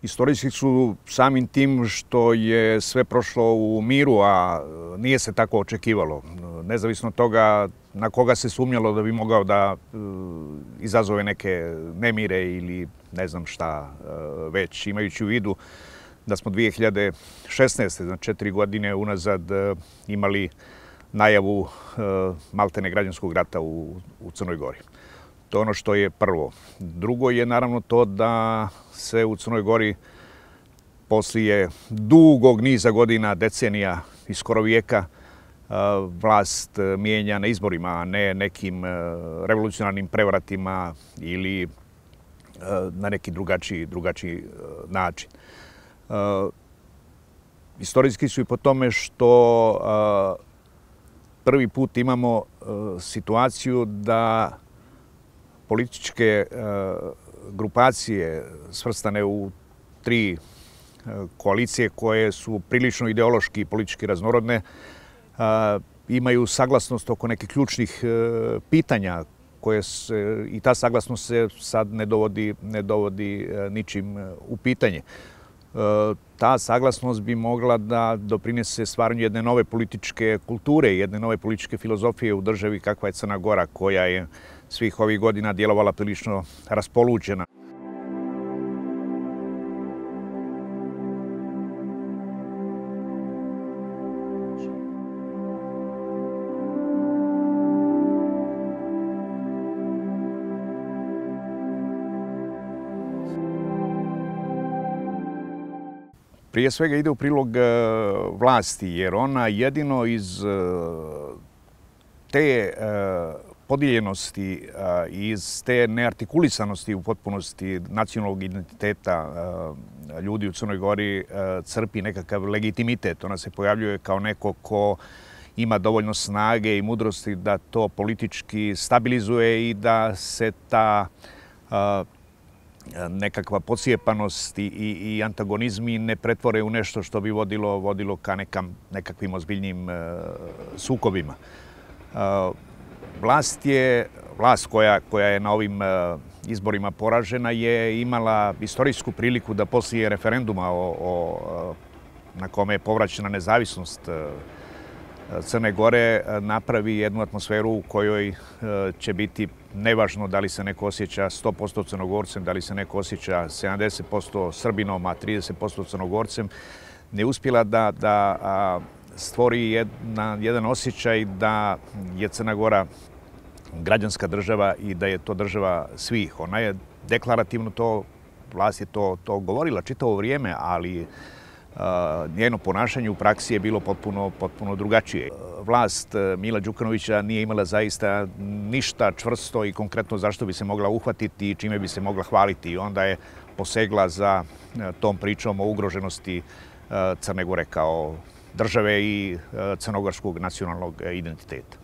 Istorijski su samim tim što je sve prošlo u miru, a nije se tako očekivalo. Nezavisno od toga na koga se sumnjalo da bi mogao da izazove neke nemire ili ne znam šta već, imajući u vidu da smo 2016. znači 4 godine unazad imali najavu maltene građanskog rata u Crnoj Gori. To je ono što je prvo. Drugo je naravno to da se u Crnoj Gori poslije dugog niza godina, decenija i skoro vijeka vlast mijenja na izborima, a ne nekim revolucionarnim prevratima ili na neki drugačiji način. Istorijski su i po tome što prvi put imamo situaciju da političke grupacije svrstane u 3 koalicije koje su prilično ideološki i politički raznorodne imaju saglasnost oko nekih ključnih pitanja i ta saglasnost se sad ne dovodi ničim u pitanje. Ta saglasnost bi mogla da doprinese stvaranju jedne nove političke kulture, jedne nove političke filozofije u državi kakva je Crna Gora, koja je svih ovih godina djelovala prilično raspoluđena. Prije svega ide u prilog vlasti, jer ona jedino iz te podijeljenosti i iz te neartikulisanosti u potpunosti nacionalnog identiteta ljudi u Crnoj Gori crpi nekakav legitimitet. Ona se pojavljuje kao neko ko ima dovoljno snage i mudrosti da to politički stabilizuje i da se ta nekakva podsjepanost i antagonizmi ne pretvore u nešto što bi vodilo ka nekakvim ozbiljnim sukobima. Vlast koja je na ovim izborima poražena je imala istorijsku priliku da poslije referenduma na kome je povraćena nezavisnost Crne Gore napravi jednu atmosferu u kojoj će biti nevažno da li se neko osjeća 100% Crnogorcem, da li se neko osjeća 70% Srbinom, a 30% Crnogorcem, ne uspjela da stvori jedan osjećaj da je Crna Gora građanska država i da je to država svih. Ona je deklarativno vlast je to govorila čitavo vrijeme, ali njeno ponašanje u praksi je bilo potpuno drugačije. Vlast Mila Đukanovića nije imala zaista ništa čvrsto i konkretno zašto bi se mogla uhvatiti i čime bi se mogla hvaliti. I onda je posegla za tom pričom o ugroženosti Crne Gore kao države i crnogorskog nacionalnog identiteta.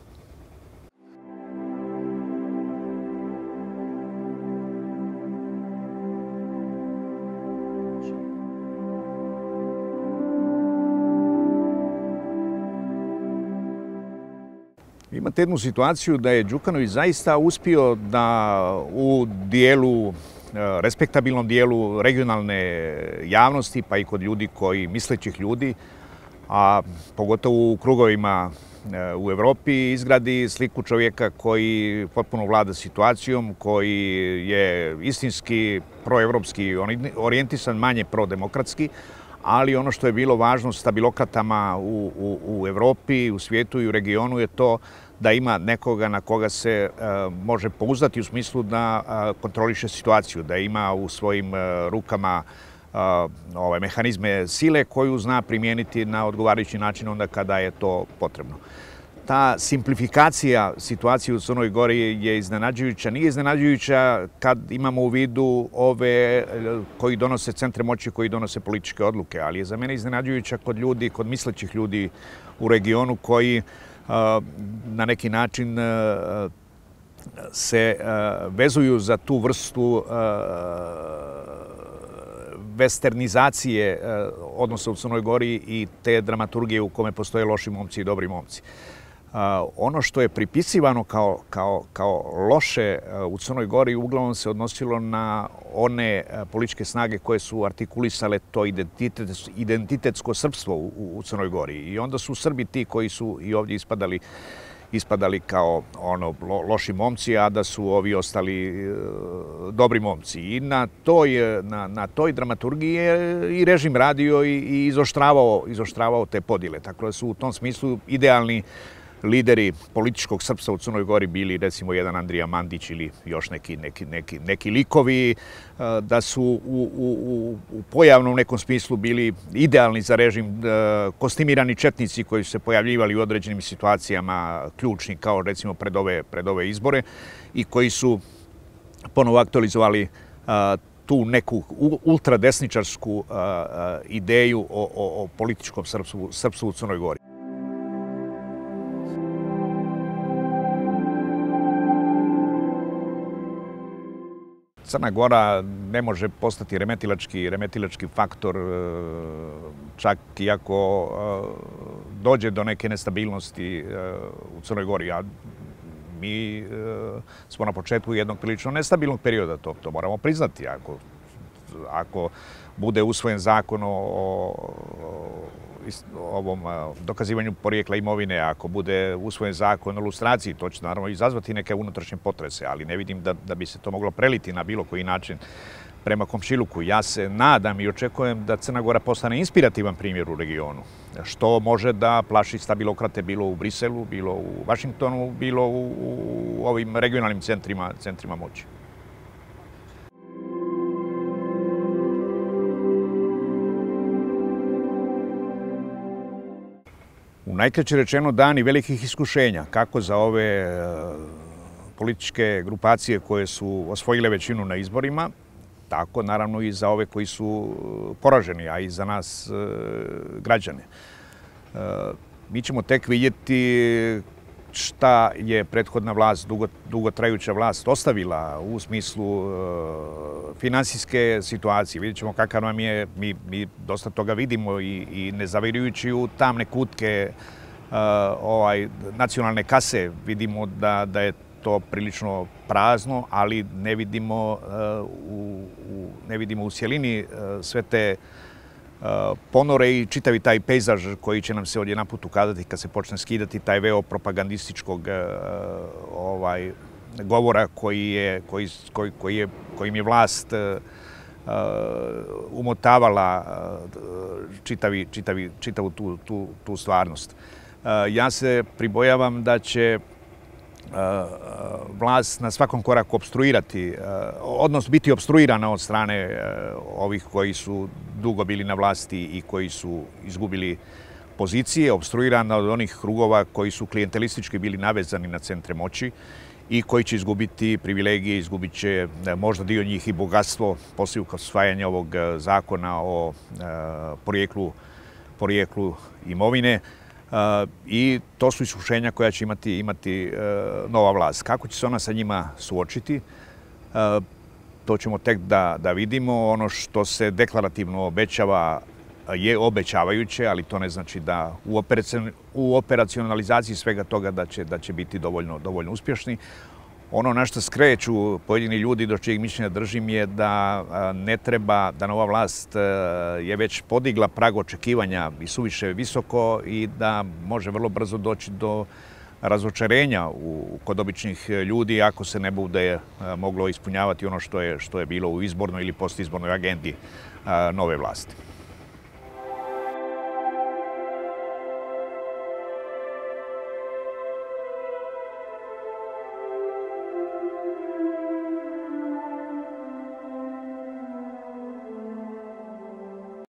Imate jednu situaciju da je Đukanović zaista uspio da u dijelu, respektabilnom dijelu regionalne javnosti, pa i kod ljudi mislećih ljudi, a pogotovo u krugovima u Evropi, izgradi sliku čovjeka koji potpuno vlada situacijom, koji je istinski proevropski orijentisan, manje prodemokratski, ali ono što je bilo važno stabilokratama u Evropi, u svijetu i u regionu je to da ima nekoga na koga se može pouzdati u smislu da kontroliše situaciju, da ima u svojim rukama mehanizme sile koju zna primijeniti na odgovarajući način onda kada je to potrebno. Ta simplifikacija situacije u Crnoj Gori je iznenađujuća. Nije iznenađujuća kad imamo u vidu ove koji donose centre moći, koji donose političke odluke, ali je za mene iznenađujuća kod ljudi, kod mislećih ljudi u regionu koji na neki način se vezuju za tu vrstu westernizacije odnosa u Crnoj Gori i te dramaturgije u kome postoje loši momci i dobri momci. Ono što je pripisivano kao loše u Crnoj Gori uglavnom se odnosilo na one političke snage koje su artikulisale to identitetsko srpstvo u Crnoj Gori. I onda su Srbi ti koji su i ovdje ispadali kao loši momci, a da su ovi ostali dobri momci. I na toj dramaturgiji je i režim radio i izoštravao te podjele. Tako da su u tom smislu idealni lideri političkog srpstva u Crnoj Gori bili recimo jedan Andrija Mandić ili još neki likovi, da su u pojavnom nekom smislu bili idealni za režim kostimirani četnici koji su se pojavljivali u određenim situacijama ključni kao recimo pred ove izbore i koji su ponovo aktualizovali tu neku ultradesničarsku ideju o političkom srpstvu u Crnoj Gori. Crna Gora ne može postati remetilački faktor, čak i ako dođe do neke nestabilnosti u Crnoj Gori. A mi smo na početku jednog prilično nestabilnog perioda, to moramo priznati. Ako bude usvojen zakon o ovom dokazivanju porijekla imovine, ako bude usvojen zakon o lustraciji, to će naravno izazvati neke unutrašnje potrese, ali ne vidim da bi se to moglo preliti na bilo koji način prema komšiluku. Ja se nadam i očekujem da Crna Gora postane inspirativan primjer u regionu, što može da plaši stabilokrate bilo u Briselu, bilo u Vašingtonu, bilo u ovim regionalnim centrima moći. U najkraće rečeno dani velikih iskušenja, kako za ove političke grupacije koje su osvojile većinu na izborima, tako naravno i za ove koji su poraženi, a i za nas građane. Mi ćemo tek vidjeti šta je prethodna vlast, dugotrajuća vlast ostavila u smislu finansijske situacije. Vidjet ćemo kakav nam je, mi dosta toga vidimo i ne zavirujući u tamne kutke nacionalne kase, vidimo da je to prilično prazno, ali ne vidimo u cjelini sve te ponore i čitavi taj pejzaž koji će nam se odjedanput ukazati kad se počne skidati taj veo propagandističkog govora kojim je vlast umotavala čitavu tu stvarnost. Ja se pribojavam da će vlast na svakom koraku opstruirati, odnosno biti opstruirana od strane ovih koji su dugo bili na vlasti i koji su izgubili pozicije, opstruirana od onih krugova koji su klijentelistički bili navezani na centre moći i koji će izgubiti privilegije, izgubit će možda dio njih i bogatstvo poslije usvajanja ovog zakona o porijeklu imovine. I to su iskušenja koja će imati nova vlast. Kako će se ona sa njima suočiti, to ćemo tek da vidimo. Ono što se deklarativno obećava je obećavajuće, ali to ne znači da u operacionalizaciji svega toga da će biti dovoljno uspješni. Ono na što skreću pojedini ljudi, do čijeg mišljenja držim, je da ne treba, da nova vlast je već podigla prag očekivanja i suviše visoko i da može vrlo brzo doći do razočarenja kod običnih ljudi ako se ne bude moglo ispunjavati ono što je bilo u izbornoj ili postizbornoj agendi nove vlasti.